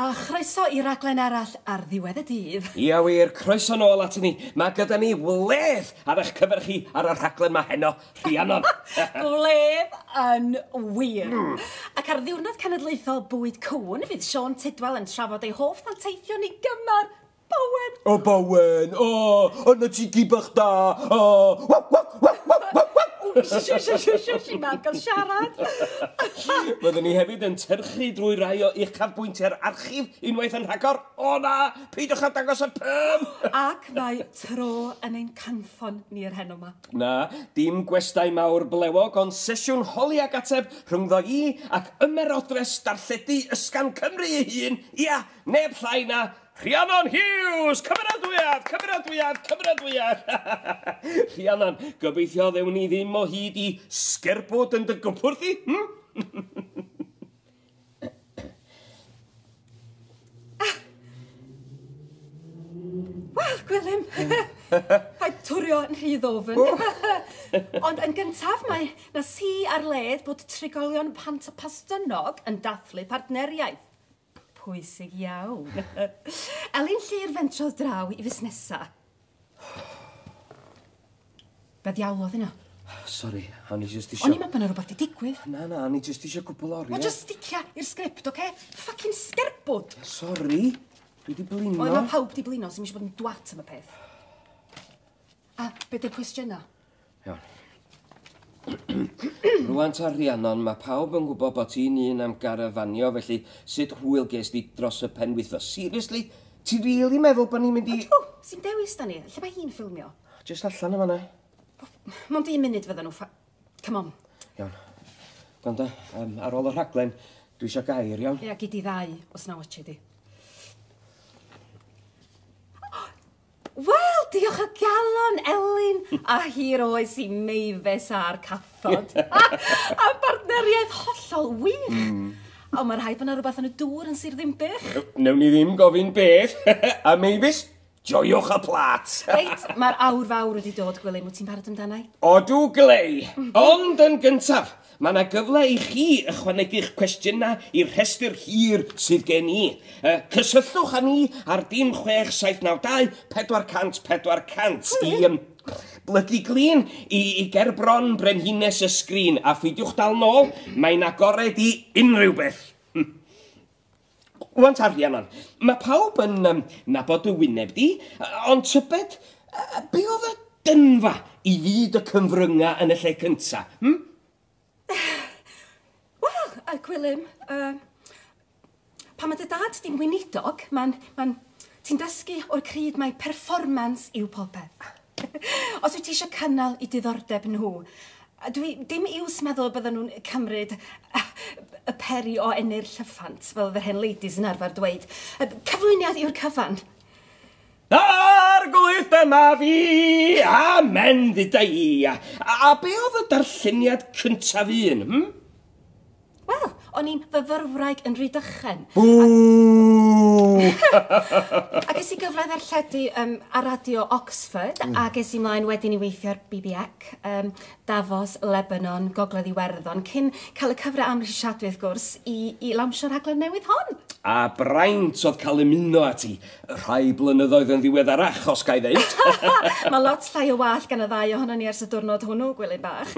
A chroeso i raglen arall ar ddiwedd y dydd. Ia wir, croeso nôl aton ni. Mae gyda ni wledd ar eich cyfer chi ar y rhaglen ma heno, Rhiannon. Gwledd yn wir. Ac ar ddiwrnod cenedlaethol bwyd cŵn, fydd Siôn Tudwal yn trafod ei hoff ddanteithion i gymar Bowen. O Bowen, o, yna ti gi bach da, o, waw, waw, waw, waw, waw, waw. Shush, mam gael siarad. Byddwn ni hefyd yn tyrchu drwy rai o uchafbwyntiau'r archif unwaith yn rhagor. O na, peidiwch â dangos y perm! Ac mae tro yn ein cynffon ni yr heno 'ma. Na, dim gwestai mawr blewog, ond sesiwn holi ac ateb rhyngddo i ac ymerodres darlledu ysgafn Cymru ei hun, ia, neb llai na Rhiannon Hughes! Cymeradwyaeth, cymeradwyaeth, cymeradwyaeth! Rhiannon, gobeithio ddewn ni ddim o hyd i sgerbwd yn dy gwpwrdd di, hm? Wel, Gwilym, paid twrio yn rhy ddofn. Ond yn gyntaf, mae 'na si ar led bod trigolion Pant y Pastynog yn dathlu partneriaeth. Pwysig iawn. Elin Llyr fentrodd draw i fusnesa. Be ddiawl oedd hynna? Sori, o'n i jyst isio. O'n i'n meddwl bod 'na rhywbeth 'di digwydd. Na, na, o'n i jyst isio cwpl o oriau. Wel, just sticia i'r sgript, oce? Fucking sgerbwd! Sori, dwi 'di blino. Wel, mae pawb 'di blino, sy'n eisiau bod yn dwat am y peth. A be 'di'r cwestiynau? Iawn. Rwan ta Rhiannon, mae pawb yn gwybod bod ti'n un am garafanio, felly sut hwyl ges di dros y penwythnos? Seriously? Ti'n really meddwl bod ni'n mynd i? Ydw, sy'n dewis da ni. Lle mae hi'n ffilmio? Just allan yma na. Mond un munud fyddan nhw. Come on. Iawn. Gwanda, ar ôl y rhaglen, dwi eisiau gair, iawn? Ia, gei di ddau os na watchi di. Wel, diolch o galon, Elin, a hir oes i Mavis a'r cathod. A partneriaeth hollol wych. Ond mae rhaid bod yna rhywbeth yn y dŵr yn Sir Ddinbych. Newn ni ddim gofyn beth. A Mavis, joiwch y plat. Reit, mae'r awr fawr wedi dod, Gwilym. Wyt ti'n barod amdana i? Odw glei. Ond yn gyntaf, mae yna gyfle i chi ychwanegu'ch cwestiynau i'r rhestr hir sydd gen i. Cysylltwch â ni ar 06792 400 400 i blygu glin i gerbron brenhines y sgrin a pheidiwch dal nôl, mae'n agored i unrhyw beth. Wan ta Rhiannon, mae pawb yn nabod dy wyneb di, ond tybed, be oedd y dynfa i fyd y cyfryngau yn y lle cynta? Hm? Wel, Gwilym, pan mae dy dad di'n weinidog, ti'n dysgu o'r cryd mai performance yw popeth. Os wyt ti eisiau cynnal i diddordeb nhw, a dwi dim iws meddwl bydden nhw'n cymryd y peri o enni'r llyffant, fel oedd yr hen ladies yn arfer dweud. Cyflwyniad yw'r cyfan. Arglwydd dyma fi, amen dduda i. A be oedd y darlleniad cyntaf un? Hm? Wel, o'n i'n fyfyrwraig yn Rhydychen. Bŵ! A ges i gyfle ddarlledu ar radio Oxford, a ges i mlaen wedyn i weithio ar BBC, Davos, Lebanon, Gogledd Iwerddon, cyn cael y cyfle amhrisiadwy, wrth gwrs, i lawnsio'r rhaglen newydd hon. A braint oedd cael ymuno â ti rhai blynyddoedd yn ddiweddarach, os ga i ddeud. Mae lot llai o wallt gan y ddau ohono ni ers y diwrnod hwnnw, Gwilym bach.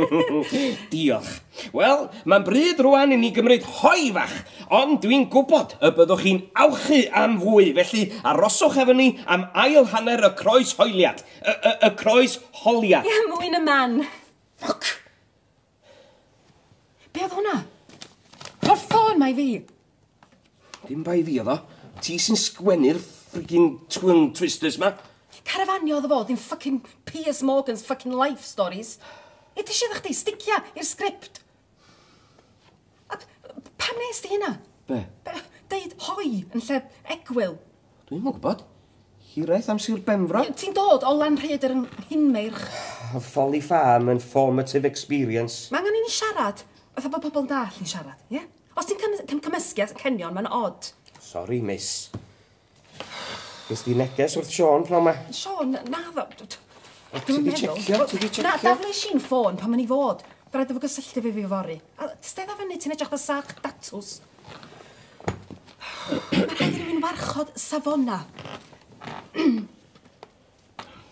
Diolch. Wel, mae'n bryd rwan i ni gymryd hoe fach, ond dwi'n gwybod y byddwch chi'n awchu am fwy, felly aroswch efo ni am ail hanner y croes hoeliad. Y croes holiad. Ie, mwy na man. Fuck! Be oedd hwnna? Rho'r ffôn 'ma i fi. Dim bai fi oedd o. Ti sy'n sgwennu'r freaking twin twisters ma. Carafanio oedd o fo, ddim fucking Piers Morgan's fucking life stories. E, ti eisiau chdi sticia i'r sgript. A pam nes di hynna? Be? Deud hoi yn lle egwyl. Dwi'm yn gwybod. Hiraeth am Sir Benfro. Ti'n dod o Lanrhaeadr yng Nghinmeirch. Folly Farm and formative experience. Mae angen i ni siarad. Fatha bod pobl yn dall ni'n siarad, ie? Os ti'n cymysgu a cenion, mae'n odd. Sorry, miss. Ges di neges wrth Siôn pnawn ma? Siôn, na ddo. O, ti di checio? Ti di checio? Na, daflu i'n ffôn pan mae'n i fod. Fe rhaid o fo gysylltu fi fory. A stedda fyny, ti'n edrych fel sach datws. Mae rhaid i rywun warchod safona.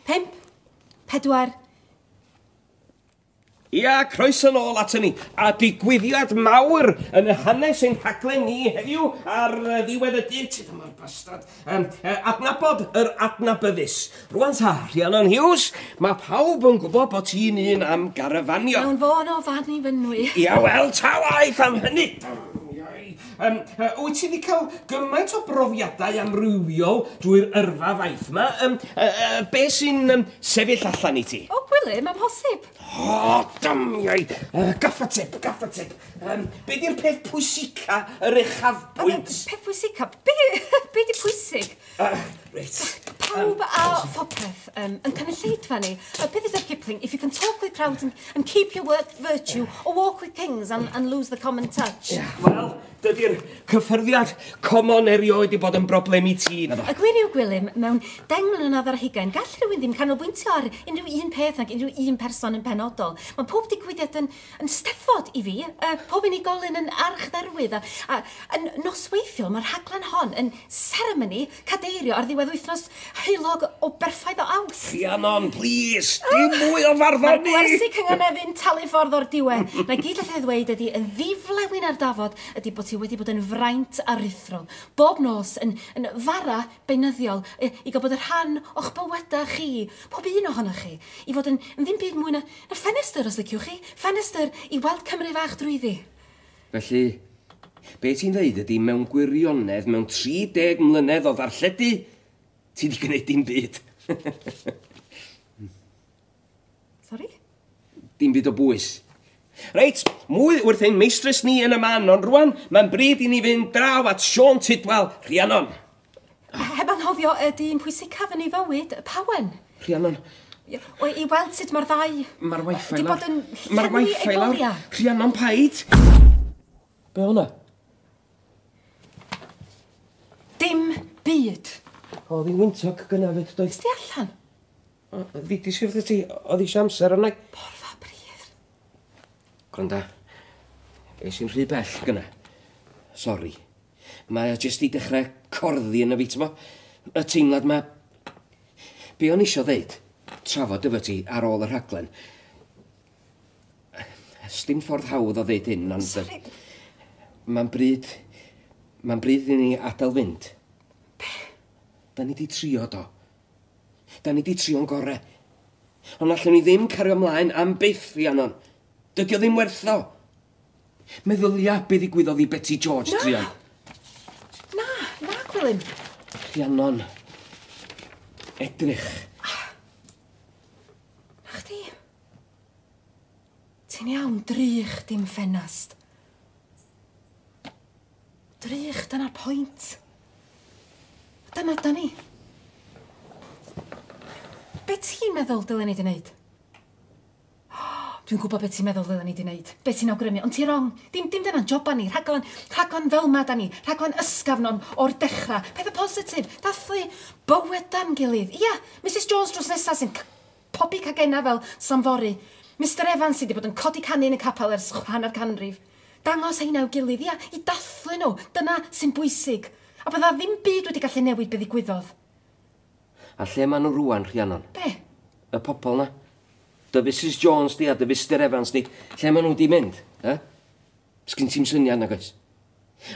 5, 4. Ia, croeso nôl aton ni. A digwyddiad mawr yn y hanes ein rhaglen ni heddiw ar ddiwedd y dydd. Ti dyma'r bastard. Adnabod yr adnabyddus. Rwan ta, Rhiannon Hughes, mae pawb yn gwybod bod ti'n un am garafanio. Mewn fôn o fan i fynwy. Ia, wel, ta waeth am hynny. Wyt ti wedi cael gymaint o brofiadau amrywiol drwy'r yrfa faith yma? Be sy'n sefyll allan i ti? O, Gwilym, amhosib. O, damiau! Gaffa tip, gaffa tip. Be di'r peth pwysica yr uchafbwynt? Peth pwysica? Be di pwysig? Reit. Pawb a phopeth yn cynulleidfa ni. Beth ydy'r Kipling? If you can talk with crowds and keep your work virtue, or walk with kings and lose the common touch. Yeah, wel, dydy'r cyffyrddiad common erioed i bod yn broblem i ti. Y gwir yw, Gwilym, mewn 10 mlynedd ar hugain, gall rhywun ddim canolbwyntio ar unrhyw un peth nag unrhyw un person yn penodol. Mae pob digwyddiad yn steddfod i fi, pob unigolyn yn archdderwydd, a yn nosweithiol mae'r rhaglen hon yn seremoni cadeirio ar ddiwedd wythnos heulog o berffaith o Awst. Rhiannon, please, dim mwy o farddoni! Mae'r gwersi cynganeddu'n talu ffordd o'r diwedd. Na gyd allai ddweud ydy yn ddiflewyn ar dafod ydy bod ti wedi bod yn fraint aruthrol. Bob nos yn fara beunyddiol i gael bod y rhan o'ch bywydau chi, pob un ohonoch chi, i fod yn ddim byd mwy na ffenestr os liciwch chi, ffenestr i weld Cymru fach drwyddi. Felly, be ti'n dweud ydy mewn gwirionedd, mewn 30 mlynedd o ddarlledu, ti di gwneud dim byd. Sorry? Dim byd o bwys. Reit, mwy wrth ein meistres ni yn y man, ond rwan, mae'n bryd i ni fynd draw at Siôn Tudwal, Rhiannon. Heb anghofio y dyn pwysicaf yn ei fywyd, Pawen. Rhiannon. O, i weld sut mae'r ddau... Mae'r wifi lawr. Di bod yn llenwi ei boliau. Rhiannon, paid. Be hwnna? Dim byd. Oedd hi'n wyntog gynna fyd, doedd? Ysdi allan? Ddudis i wrth ti, oedd eisiau amser yna. Porfa pridd. Gwranda, es i'n rhy bell gynna. Sori. Mae o jyst i dechrau corddi yn y fi, t'mo? Y teimlad ma... Be o'n isio ddeud, trafod efo ti ar ôl y rhaglen. Sdim ffordd hawdd o ddeud hyn, ond... Sori. Mae'n bryd i ni adael fynd. Be? Da ni di trio, do. Da ni di trio'n gore. Ond allwn ni ddim cario ymlaen am byth, Rhiannon. Dydy o ddim werth o. Meddylia be ddigwyddodd i Betty George, druan. Na, na, Gwilym. Rhiannon, edrych. Na chdi. Ti'n iawn, drych dim ffenast. Drych, dyna'r pwynt. Dyna da ni. Be ti'n meddwl dylen ni di wneud? Dwi'n gwybod be ti'n meddwl dylen ni di wneud. Be ti'n awgrymu, ond ti'n wrong. Dim dyna'n joba ni. Rhaglen fel ma da ni. Rhaglen ysgafn o'r dechrau. Pethau positif. Dathlu bywyda'n gilydd. Ia, Mrs Jones dros nesaf sy'n pobi cagena fel Samfori. Mr Evans sydd wedi bod yn codi canu yn y capel ers hanner canrif. Dangos heina i'w gilydd, ia, i dathlu nhw. Dyna sy'n bwysig. A bydda ddim byd wedi gallu newid be ddigwyddodd. A lle maen nhw rwan, Rhiannon? Be? Y pobol na. Dy Mrs Jones di a dy Mr Evans di. Lle maen nhw di mynd, eh? Sgyn ti'm syniad nag oes?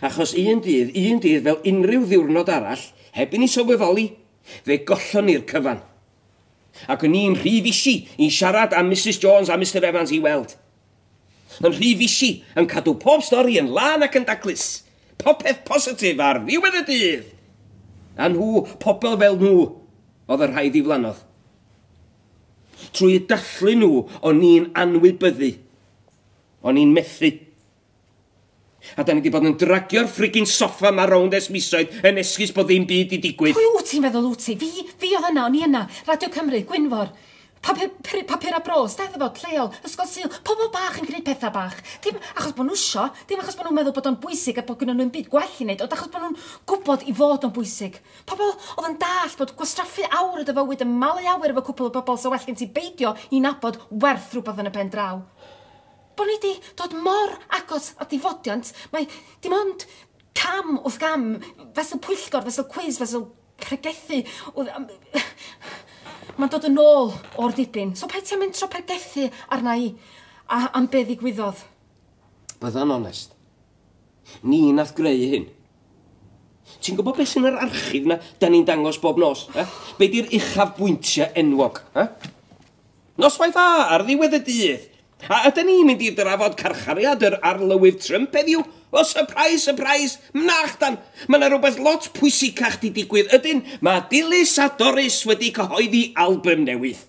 Achos un dydd fel unrhyw ddiwrnod arall, heb i ni sylweddoli, fe gollon ni'r cyfan. Ac o'n i'n rhy fisi i siarad am Mrs Jones a Mr Evans i weld. Yn rhy fisi yn cadw pob stori yn lân ac yn daclus. Popeth positif ar ddiwedd y dydd. A nhw, pobl fel nhw, oedd y rhai ddiflannodd. Trwy dathlu nhw, o'n i'n anwybyddu. O'n i'n methu. A da ni wedi bod yn dragio'r friggin soffa ma rownd ers misoedd yn esgus bod ddim byd i digwydd. Pwy wyt ti'n meddwl wyt ti? Fi oedd yna, o'n i yna. Radio Cymru, Gwynfor. Papur a bro, steddfod, lleol, ysgol Sul, pobl bach yn gwneud pethau bach. Dim achos bod nhw isio, dim achos bod nhw'n meddwl bod o'n bwysig a bod gynnon nhw'n byd gwell i wneud, ond achos bod nhw'n gwybod i fod o'n bwysig. Pobl oedd yn dallt bod gwastraffu awr o dy fywyd yn malu awyr efo cwpl o bobl so well gen ti beidio i nabod werth rhywbeth yn y pen draw. Bod ni wedi dod mor agos at ddifodiant, mae dim ond Cam wrth gam, fesul pwyllgor, fesul cwiz, fesul pregethu. Mae'n dod yn ôl o'r dibyn. So paid ti'n mentro pregethu arna i a, am be ddigwyddodd. Bydda'n onest. Ni nath greu hyn. Ti'n gwybod beth sy'n yr archif na da ni'n dangos bob nos? Eh? Be di'r uchaf bwyntiau enwog? Eh? Noswaith dda ar ddiwedd y dydd. A ydyn ni'n mynd i drafod carchariad yr arlywydd Trump heddiw? O, surprise, surprise! Nachdan! Mae yna rhywbeth lot pwysicach di digwydd. Ydyn, mae Dilys a Doris wedi cyhoeddi album newydd.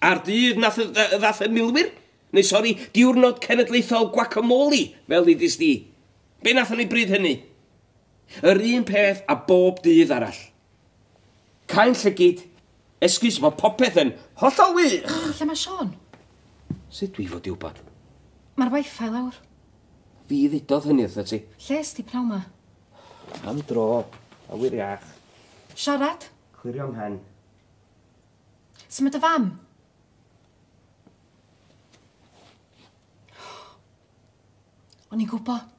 A'r dydd nath ddath y milwyr? Neu sori, diwrnod cenedlaethol guacamole, fel ddudis di. Be nathon ni bryd hynny? Yr un peth a bob dydd arall. Cau'n llygid, esgus bod popeth yn hollol wych. Lle mae Sean? Sut dwi fod i wybod? Mae'r wifi lawr. Fi ddudodd hynny wrtho ti. Lle est ti pnawn ma? Am dro, awyr iach. Siarad? Clirio mhen. Sut mae dy fam? O'n i'n gwybod.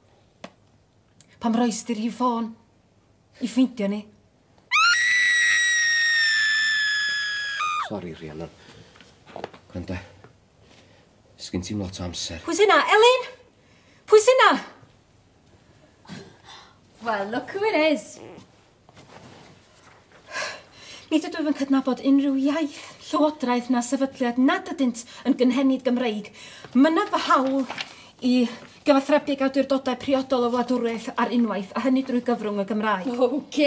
Pam roes di'r hi ffôn? I ffeindio ni. Sori, Rhiannon. Gwranda. Sgyn ti'm lot o amser. Pwy sy'n na? Elin? Pwy sy'n na? Well, look who it is. Nid ydw yn cydnabod unrhyw iaith, llywodraeth na sefydliad nad ydynt yn gynhenid Gymreig. Mynaf fy hawl i gyfathrebu ag awdurdodau priodol o wladwriaeth ar unwaith, a hynny drwy gyfrwng y Gymraeg. OK.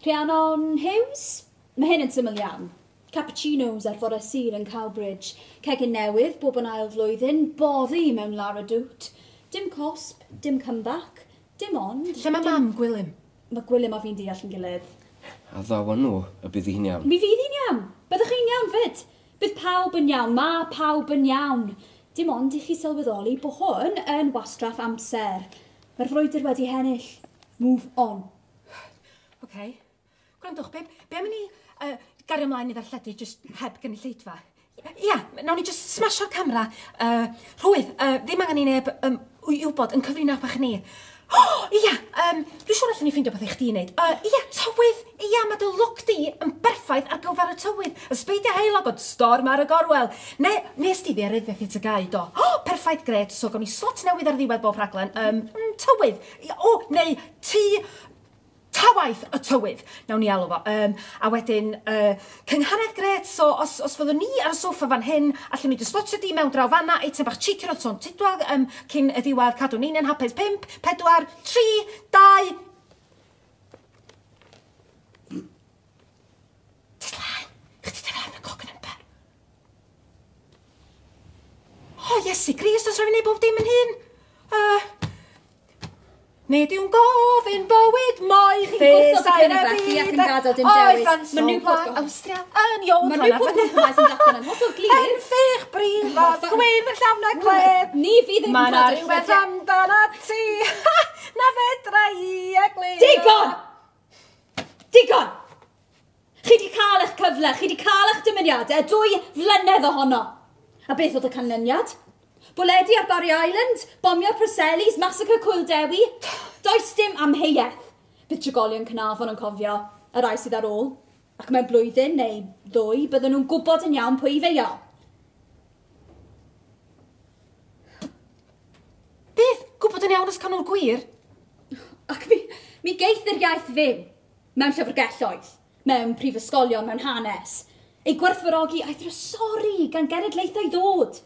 Rhiannon Hughes? Mae hyn yn syml iawn. Cappuccinos ar fore Sul yn Cowbridge. Cegin newydd, bob yn ail flwyddyn, boddi mewn Lara Dwt. Dim cosb, dim comeback, dim ond... Lle mae mam, Gwilym? Mae Gwilym a fi'n deall yn gilydd. A ddaw nhw y bydd hi'n iawn. Mi fydd hi'n iawn. Byddwch chi'n iawn fyd. Bydd pawb yn iawn. Mae pawb yn iawn. Dim ond i chi sylweddoli bod hwn yn wastraff amser. Mae'r frwydr wedi hennill. Move on. OK. Gwrandwch, be, be am i ni gario ymlaen i ddarlledu just heb gynulleidfa? Ia, nawn ni just smasho'r camera. Rhwydd, ddim angen i neb i wybod yn cyfrinach bach ni. Oh, ia, dwi'n siŵr allan ni ffeindio beth i chdi wneud. Ia, tywydd. Ia, mae dy look di yn berffaith ar gyfer y tywydd. Ysbeidiau heulog ond storm ar y gorwel. Ne, nes di ddaearyddiaeth i TGAU, do. Oh, perffaith, gret. So, gawn ni slot newydd ar ddiwedd bob rhaglen. Tywydd. O, neu ti... Tawaith y tywydd, nawn ni alw fo. A wedyn, cynghanedd gret, so os fyddwn ni ar y soffa fan hyn, allwn ni dy slotio di mewn draw fanna, eitem bach cheeky roedd Siôn Tudwal cyn y diwedd, cadw ni'n yn hapus. 5, 4, 3, 2... Tislan, chdi dy y cog yn ymper. O, Iesu Grist, os rhaid fi wneud bob dim yn hyn. Nid yw'n gofyn bywyd moethus. Chi'n gwrthod y cynnig felly ac yn gadael dim dewis. Mae Newport Awstria yn iawn. Mae Newport Compromise yn datgan yn hollol glir. Yn ffych brifod, gwyn yn llawn a gleb. Ni fydd yn Mae 'na rhywbeth amdanat ti na fedra i egluro. Digon! Digon! Chi wedi cael eich cyfle, chi wedi cael eich dymuniadau, 2 flynedd ohono. A beth oedd y canlyniad? Bwledi ar Barry Island, bomio'r Preselis, massacre Cwyl Dewi. Does dim amheuaeth. Bydd trigolion Caernarfon yn cofio, y rai sydd ar ôl. Ac mewn blwyddyn neu ddwy, bydden nhw'n gwybod yn iawn pwy i feio. Beth? Gwybod yn iawn os cael nhw'r gwir? Ac mi geith yr iaith fyw, mewn llyfrgelloedd, mewn prifysgolion, mewn hanes. Ei gwerthfawrogi a'i thrysori gan genedlaethau ddod.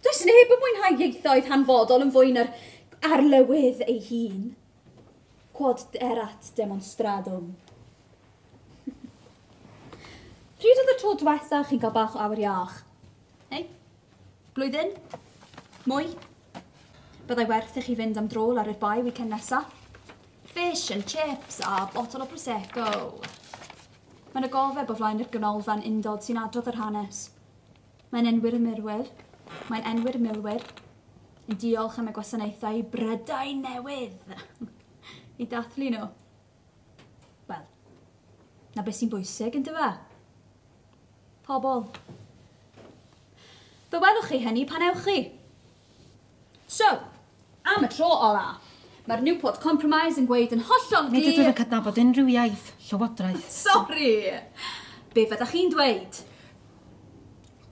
Does neb yn mwynhau ieithoedd hanfodol yn fwy na'r arlywydd ei hun. Quod erat demonstradum. Pryd oedd y tro diwetha chi'n cael bach o awyr iach? Hei? Blwyddyn? Mwy? Byddai werth i chi fynd am dro ar yr bai weekend nesa? Fish and chips a botol o Prosecco. Mae'n y gofeb o flaen yr ganolfan undod sy'n adrodd yr hanes. Mae'n enwi'r murwyr. Mae'n enwi'r milwyr yn diolch am y gwasanaethau Brydain newydd i dathlu nhw. Wel, na beth sy'n bwysig yn dyfa? Pobl. Fe welwch chi hynny pan ewch chi. So, am y tro ola, Mae'r Newport Compromise yn gweud yn hollol Nid ydw glir. yn cydnabod unrhyw iaith, llywodraeth. Sori! Be fyddach chi'n dweud?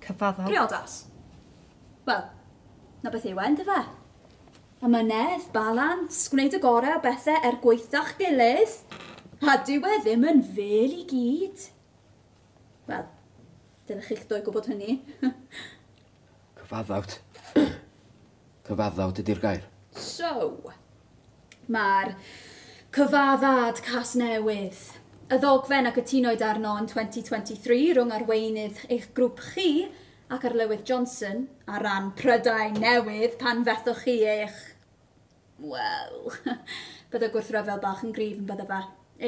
Cyfaddawd. Priodas. Wel, na beth yw e, yndyfe? Amynedd, balans, gwneud y gorau o bethau er gwaetha'ch gilydd. A dyw e ddim yn fel i gyd. Wel, dylech chi'ch dwy gwybod hynny. Cyfaddawd. Cyfaddawd ydy'r gair. So, mae'r cyfaddad Casnewydd, y ddogfen a gytunwyd arno yn 2023 rhwng arweinydd eich grŵp chi ac Arlywydd Johnson ar ran Prydain Newydd pan fethoch chi eich... Wel, bydde gwrthryfel bach yn gryf yn bydde fe.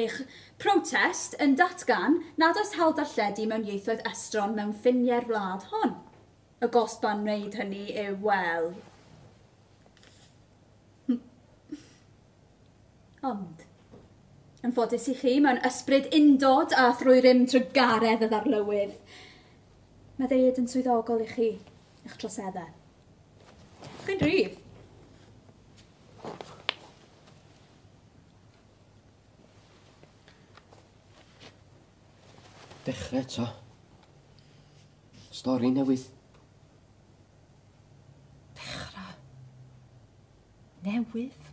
Eich protest yn datgan nad oes hawl darlledu mewn ieithoedd estron mewn ffiniau'r wlad hon. Y gosb am wneud hynny yw, wel, Ond, yn ffodus i chi, mewn ysbryd undod a thrwy rym trugaredd y ddarlywydd, mae ddeud yn swyddogol i chi, eich troseddau. Chi'n rhydd. Dechrau eto. Stori newydd. Dechrau. Newydd.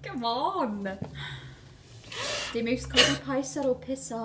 Come on! Dim iws codi pais ar ôl piso.